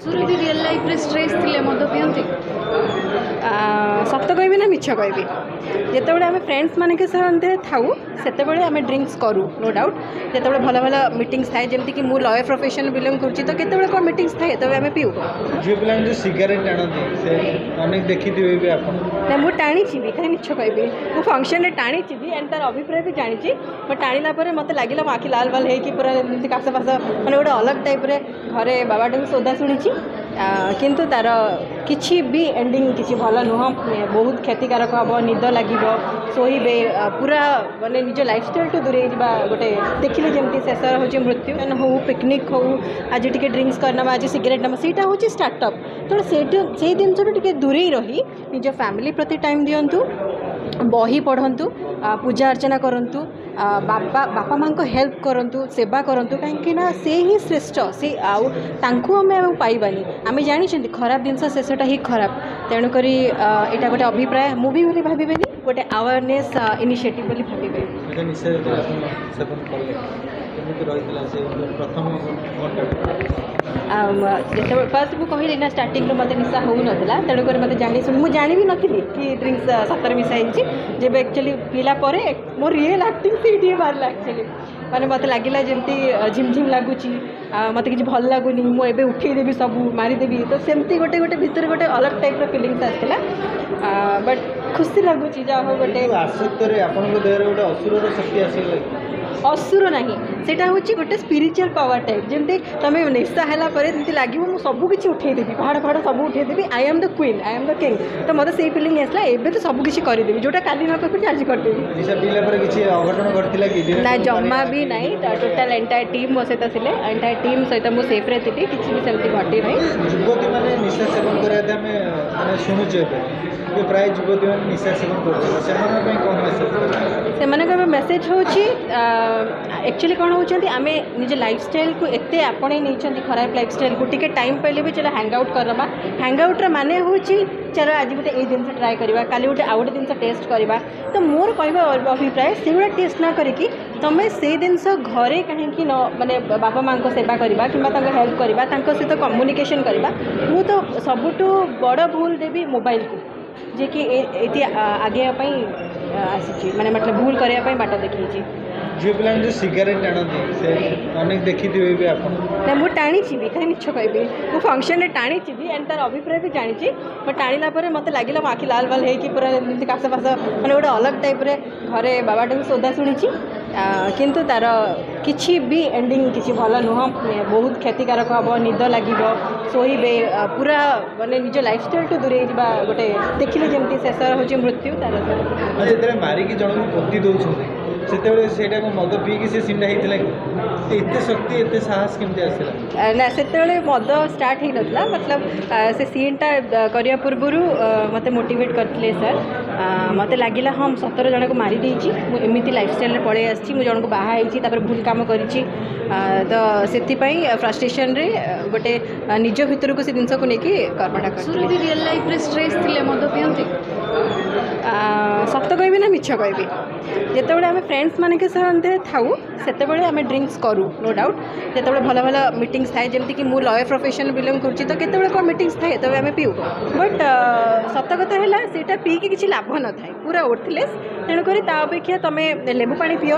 Surabhi, real ଲାଇଫ୍ରେ stress ଥିଲେ ମଦ ପିଅନ୍ତି? ସତ କହିବି ନା ମିଛ କହିବି? ଯେତେବେଳେ ଆମେ ଫ୍ରେଣ୍ଡସ୍ ମାନଙ୍କ ସହ ଥାଉ, ସେତେବେଳେ ଆମେ ଡ୍ରିଙ୍କସ୍ କରୁ, ନୋ ଡାଉଟ୍। ଯେତେବେଳେ ଭଲ ଭଲ ମିଟିଂସ୍ ଥାଏ, ଯେମିତିକି ମୁଁ ଲୟର୍ ପ୍ରଫେସନ୍ ବିଲଙ୍ଗ କରୁଛି, ତ କେତେବେଳେ କ'ଣ ମିଟିଂସ୍ ଥାଏ, ତେବେ ଆମେ ପିଉ। ଝିଅ ପିଲାମାନେ ଯେଉଁ ସିଗାରେଟ୍ ଟାଣନ୍ତି, ସେ ଅନେକ ଦେଖିଥିବେ ବି ଆପଣ। ନା, ମୁଁ ଟାଣିଛି ବି। କାହିଁ ମିଛ କହିବି? ମୁଁ ଫଙ୍କସନ୍ରେ ଟାଣିଛି ବି ଆଣ୍ଡ ତାର ଅଭିପ୍ରାୟ ବି ଜାଣିଛି। ବଟ୍ ଟାଣିଲା ପରେ ମୋତେ ଲାଗିଲା ମୋ ଆଖି ଲାଲ ବାଲ ହେଇକି ପୁରା ଏମିତି କାଶ ଫାଶ, ମାନେ ଗୋଟେ ଅଲଗା ଟାଇପ୍ରେ। ଘରେ ବାବାଠୁ ବି ସୋଦା ଶୁଣିଛି। କିନ୍ତୁ ତାର କିଛି ବି ଏଣ୍ଡିଙ୍ଗ କିଛି ଭଲ ନୁହଁ। ବହୁତ କ୍ଷତିକାରକ ହେବ, ନିଦ ଲାଗିବ, ଶୋଇବେ, ପୁରା ମାନେ ନିଜ ଲାଇଫଷ୍ଟାଇଲ୍ଠୁ ଦୂରେଇ ଯିବା। ଗୋଟେ ଦେଖିଲେ ଯେମିତି ଶେଷର ହେଉଛି ମୃତ୍ୟୁ। ହଉ, ପିକନିକ୍ ହଉ, ଆଜି ଟିକେ ଡ୍ରିଙ୍କସ୍ କରିନେବା, ଆଜି ସିଗାରେଟ୍ ନେବା, ସେଇଟା ହେଉଛି ଷ୍ଟାର୍ଟଅପ୍। ତେଣୁ ସେଇଠୁ ସେଇ ଜିନିଷଠୁ ଟିକେ ଦୂରେଇ ରହି ନିଜ ଫ୍ୟାମିଲି ପ୍ରତି ଟାଇମ୍ ଦିଅନ୍ତୁ, ବହି ପଢ଼ନ୍ତୁ, ପୂଜା ଅର୍ଚ୍ଚନା କରନ୍ତୁ, ବାପା ମାଆଙ୍କ ହେଲ୍ପ କରନ୍ତୁ, ସେବା କରନ୍ତୁ, କାହିଁକି ନା ସେ ହିଁ ଶ୍ରେଷ୍ଠ। ସେ ଆଉ ତାଙ୍କୁ ଆମେ ଆଉ ପାଇବାନି। ଆମେ ଜାଣିଛନ୍ତି ଖରାପ ଜିନିଷ ଶେଷଟା ହିଁ ଖରାପ। ତେଣୁକରି ଏଇଟା ଗୋଟେ ଅଭିପ୍ରାୟ ମୁଁ ବି ବୋଲି ଭାବିବେନି, ଗୋଟେ ଆୱାରନେସ୍ ଇନିସିଏଟିଭ୍ ବୋଲି ଭାବିବେ। ଆଚ୍ଛା, ନିଶା ଯେତେବେଳେ ଆପଣ ସେବନ କଲେ, କେମିତି ରହିଥିଲା ସେ ପ୍ରଥମ ଘଣ୍ଟାଟା? ଯେତେବେଳେ ଫାର୍ଷ୍ଟ ମୁଁ କହିଲି ନା, ଷ୍ଟାର୍ଟିଂରୁ ମୋତେ ନିଶା ହେଉନଥିଲା। ତେଣୁକରି ମୋତେ ଜାଣି ଶୁଣି, ମୁଁ ଜାଣି ବି ନଥିଲି କି ଡ୍ରିଙ୍କସ୍ ସତରେ ମିଶା ହେଇଛି। ଯେବେ ଆକ୍ଚୁଆଲି ପିଇଲା ପରେ ମୋ ରିଏଲ୍ ଆକ୍ଟିଂ ସେଇଠି ହିଁ ବାହାରିଲା। ଆକ୍ଚୁଆଲି ମାନେ ମୋତେ ଲାଗିଲା ଯେମିତି ଝିମ୍ ଝିମ୍ ଲାଗୁଛି, ମୋତେ କିଛି ଭଲ ଲାଗୁନି, ମୁଁ ଏବେ ଉଠେଇଦେବି, ସବୁ ମାରିଦେବି। ତ ସେମିତି ଗୋଟେ ଭିତରେ ଗୋଟେ ଅଲଗା ଟାଇପ୍ର ଫିଲିଙ୍ଗସ୍ ଆସିଥିଲା। ବଟ୍ ଖୁସି ଲାଗୁଛି, ଯାହା ହଉ ଗୋଟେ ଯୋଉ ଆସକ୍ତରେ ଆପଣଙ୍କ ଦେହରେ ଗୋଟେ ଅସୁରର ଶକ୍ତି ଆସିଗଲା କି? ଅସୁର ନାହିଁ, ସେଇଟା ହେଉଛି ଗୋଟେ ସ୍ପିରିଚୁଆଲ୍ ପାୱାର ଟାଇପ୍। ଯେମିତି ତୁମେ ନିଶା ହେଲା ପରେ ଯେମିତି ଲାଗିବ ମୁଁ ସବୁ କିଛି ଉଠେଇଦେବି, ପାହାଡ଼ ଫାହାଡ଼ ସବୁ ଉଠେଇଦେବି, I am the queen, I am the king। ତ ମୋତେ ସେଇ ଫିଲିଙ୍ଗ ଆସିଲା। ଏବେ ତ ସବୁ କିଛି କରିଦେବି, ଯେଉଁଟା କାଲି ନ କରିପାରିବି ଆଜି କରିଦେବି। ନିଶା ପିଇଲା ପରେ କିଛି ଅଘଟଣ ଘଟିଥିଲା କି? ନା, ଜମା ବି ନାହିଁ। ଟୋଟାଲ୍ ଏଣ୍ଟାୟାର ଟିମ୍ ମୋ ସହିତ ଥିଲେ, ଏଣ୍ଟାୟାର ଟିମ୍ ସହିତ ମୁଁ ସେଫ୍ରେ ଥିଲି, କିଛି ବି ସେମିତି ଘଟି ନାହିଁ। ଯୁବତୀମାନେ ନିଶା ସେବନ କରିବା ଆମେ ମାନେ ଶୁଣୁଛୁ ଏବେ ଯେ ପ୍ରାୟ ଯୁବତୀମାନେ ନିଶା ସେବନ କରୁଛନ୍ତି, ସେମାନଙ୍କ ପାଇଁ କ'ଣ ମେସେଜ? ସେମାନଙ୍କର ମେସେଜ୍ ହେଉଛି, ଆକ୍ଚୁଆଲି କ'ଣ ହେଉଛନ୍ତି, ଆମେ ନିଜ ଲାଇଫଷ୍ଟାଇଲ୍କୁ ଏତେ ଆପଣେଇ ନେଇଛନ୍ତି, ଖରାପ ଲାଇଫଷ୍ଟାଇଲ୍କୁ। ଟିକେ ଟାଇମ୍ ପାଇଲେ ବି ଚାଲ ହ୍ୟାଙ୍ଗ ଆଉଟ୍ କରିଦେବା। ହ୍ୟାଙ୍ଗ ଆଉଟ୍ର ମାନେ ହେଉଛି ଚାଲ ଆଜି ଗୋଟେ ଏଇ ଜିନିଷ ଟ୍ରାଏ କରିବା, କାଲି ଗୋଟେ ଆଉ ଗୋଟେ ଜିନିଷ ଟେଷ୍ଟ କରିବା। ତ ମୋର କହିବା ଅଭିପ୍ରାୟ, ସେଗୁଡ଼ା ଟେଷ୍ଟ ନ କରିକି ତୁମେ ସେଇ ଜିନିଷ ଘରେ କାହିଁକି ନ ମାନେ ବାପା ମାଆଙ୍କ ସେବା କରିବା କିମ୍ବା ତାଙ୍କୁ ହେଲ୍ପ କରିବା, ତାଙ୍କ ସହିତ କମ୍ୟୁନିକେସନ୍ କରିବା। ମୁଁ ତ ସବୁଠୁ ବଡ଼ ଭୁଲ ଦେବି ମୋବାଇଲକୁ, ଯିଏକି ଏଇଠି ଆଗେଇବା ପାଇଁ ଆସିଛି, ମାନେ ମତଲବ ଭୁଲ କରିବା ପାଇଁ ବାଟ ଦେଖେଇଛି। ଝିଅ ପିଲାମାନେ ଯେଉଁ ସିଗାରେଟ୍ ଟାଣନ୍ତି, ସେ ଅନେକ ଦେଖିଥିବେ ବି ଆପଣ। ନା, ମୁଁ ଟାଣିଛି ବି। କାହିଁ ମିଛ କହିବି? ମୁଁ ଫଙ୍କସନ୍ରେ ଟାଣିଛି ବି ଆଣ୍ଡ ତାର ଅଭିପ୍ରାୟ ବି ଜାଣିଛି। ବଟ୍ ଟାଣିଲା ପରେ ମୋତେ ଲାଗିଲା ମୋ ଆଖି ଲାଲ ବାଲ ହେଇକି ପୁରା ଏମିତି କାଶ ଫାଶ, ମାନେ ଗୋଟେ ଅଲଗା ଟାଇପ୍ରେ। ଘରେ ବାବାଠୁ ବି ସୋଦା ଶୁଣିଛି। କିନ୍ତୁ ତାର କିଛି ବି ଏଣ୍ଡିଙ୍ଗ କିଛି ଭଲ ନୁହଁ। ବହୁତ କ୍ଷତିକାରକ ହେବ, ନିଦ ଲାଗିବ, ଶୋଇବେ, ପୁରା ମାନେ ନିଜ ଲାଇଫଷ୍ଟାଇଲ୍ଠୁ ଦୂରେଇ ଯିବା। ଗୋଟେ ଦେଖିଲେ ଯେମିତି ଶେଷର ହେଉଛି ମୃତ୍ୟୁ ତାର। ଯେତେବେଳେ ମାରିକି ଜଣକୁ ପୋତି ଦେଉଛନ୍ତି, ସେତେବେଳେ ସେଇଟା କ'ଣ ମଦ ପିଇକି ସେ ସିନ୍ଟା ହେଇଥିଲା କି? ଏତେ ଶକ୍ତି, ଏତେ ସାହସ କେମିତି ଆସିଲା? ନା, ସେତେବେଳେ ମଦ ଷ୍ଟାର୍ଟ ହେଇନଥିଲା। ମତଲବ ସେ ସିନ୍ଟା କରିବା ପୂର୍ବରୁ ମୋତେ ମୋଟିଭେଟ୍ କରିଥିଲେ ସାର୍। ମୋତେ ଲାଗିଲା, ହଁ, ମୁଁ ସତରେ ଜଣକୁ ମାରି ଦେଇଛି, ମୁଁ ଏମିତି ଲାଇଫଷ୍ଟାଇଲ୍ରେ ପଳେଇ ଆସିଛି, ମୁଁ ଜଣକୁ ବାହା ହେଇଛି, ତାପରେ ଭୁଲ କାମ କରିଛି। ତ ସେଥିପାଇଁ ଫ୍ରଷ୍ଟ୍ରେସନ୍ରେ ଗୋଟେ ନିଜ ଭିତରକୁ ସେ ଜିନିଷକୁ ନେଇକି କର୍ମଟା କରିଥିଲି। ସୁରଭି, ରିଅଲ୍ ଲାଇଫ୍ରେ ଷ୍ଟ୍ରେସ୍ ଥିଲେ ମଦ ପିଅନ୍ତି? ସତ କହିବି ନା ମିଛ କହିବି? ଯେତେବେଳେ ଆମେ ଫ୍ରେଣ୍ଡସ୍ ମାନଙ୍କ ସହ ଥାଉ, ସେତେବେଳେ ଆମେ ଡ୍ରିଙ୍କସ୍ କରୁ, ନୋ ଡାଉଟ୍। ଯେତେବେଳେ ଭଲ ଭଲ ମିଟିଂସ୍ ଥାଏ, ଯେମିତିକି ମୁଁ ଲୟର୍ ପ୍ରଫେସନ୍ ବିଲଙ୍ଗ କରୁଛି, ତ କେତେବେଳେ କ'ଣ ମିଟିଂସ୍ ଥାଏ, ତେବେ ଆମେ ପିଉ। ବଟ୍ ସତ କଥା ହେଲା, ସେଇଟା ପିଇକି କିଛି ଲାଭ ନଥାଏ, ପୁରା ୱର୍ଥଲେସ୍। ତେଣୁକରି ତା ଅପେକ୍ଷା ତୁମେ ଲେମ୍ବୁ ପାଣି ପିଅ,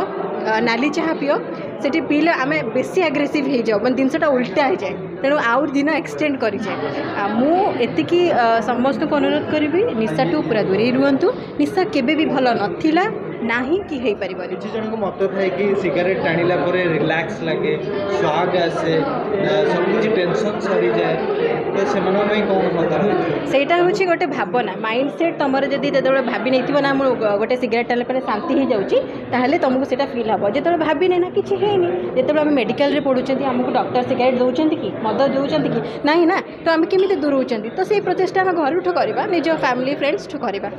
ନାଲି ଚାହା ପିଅ। ସେଠି ପିଇଲେ ଆମେ ବେଶୀ ଆଗ୍ରେସିଭ୍ ହେଇଯାଉ, ମାନେ ଜିନିଷଟା ଉଲ୍ଟା ହେଇଯାଏ, ତେଣୁ ଆଉ ଦିନ ଏକ୍ସଟେଣ୍ଡ କରିଯାଏ। ଆଉ ମୁଁ ଏତିକି ସମସ୍ତଙ୍କୁ ଅନୁରୋଧ କରିବି, ନିଶାଠୁ ପୁରା ଦୂରେଇ ରୁହନ୍ତୁ। ନିଶା କେବେ ବି ଭଲ ନଥିଲା, ନାହିଁ କି ହେଇପାରିବନି। କିଛି ଜଣଙ୍କ ମତ ଥାଏ କି ସିଗାରେଟ୍ ଟାଣିଲା ପରେ ରିଲାକ୍ସ ଲାଗେ, ସ୍ୱାଗ ଆସେ, ସବୁ କିଛି ଟେନସନ୍ ସରିଯାଏ, ତ ସେମାନଙ୍କ ପାଇଁ କ'ଣ ମତ ରହିଛି? ସେଇଟା ହେଉଛି ଗୋଟେ ଭାବନା, ମାଇଣ୍ଡ ସେଟ୍। ତୁମର ଯଦି ଯେତେବେଳେ ଭାବି ନେଇଥିବ ନା ମୁଁ ଗୋଟେ ସିଗାରେଟ୍ ଟାଣିଲା ପରେ ଶାନ୍ତି ହେଇଯାଉଛି, ତାହେଲେ ତୁମକୁ ସେଇଟା ଫିଲ୍ ହେବ। ଯେତେବେଳେ ଭାବିନେ ନା କିଛି ହେଇନି। ଯେତେବେଳେ ଆମେ ମେଡ଼ିକାଲରେ ପଢ଼ୁଛନ୍ତି, ଆମକୁ ଡକ୍ଟର ସିଗାରେଟ୍ ଦେଉଛନ୍ତି କି ମଦ ଦେଉଛନ୍ତି କି? ନାହିଁ ନା। ତ ଆମେ କେମିତି ଦୂରଉଛନ୍ତି? ତ ସେଇ ପ୍ରଚେଷ୍ଟା ଆମେ ଘରଠୁ କରିବା, ନିଜ ଫ୍ୟାମିଲି ଫ୍ରେଣ୍ଡସ୍ଠୁ କରିବା।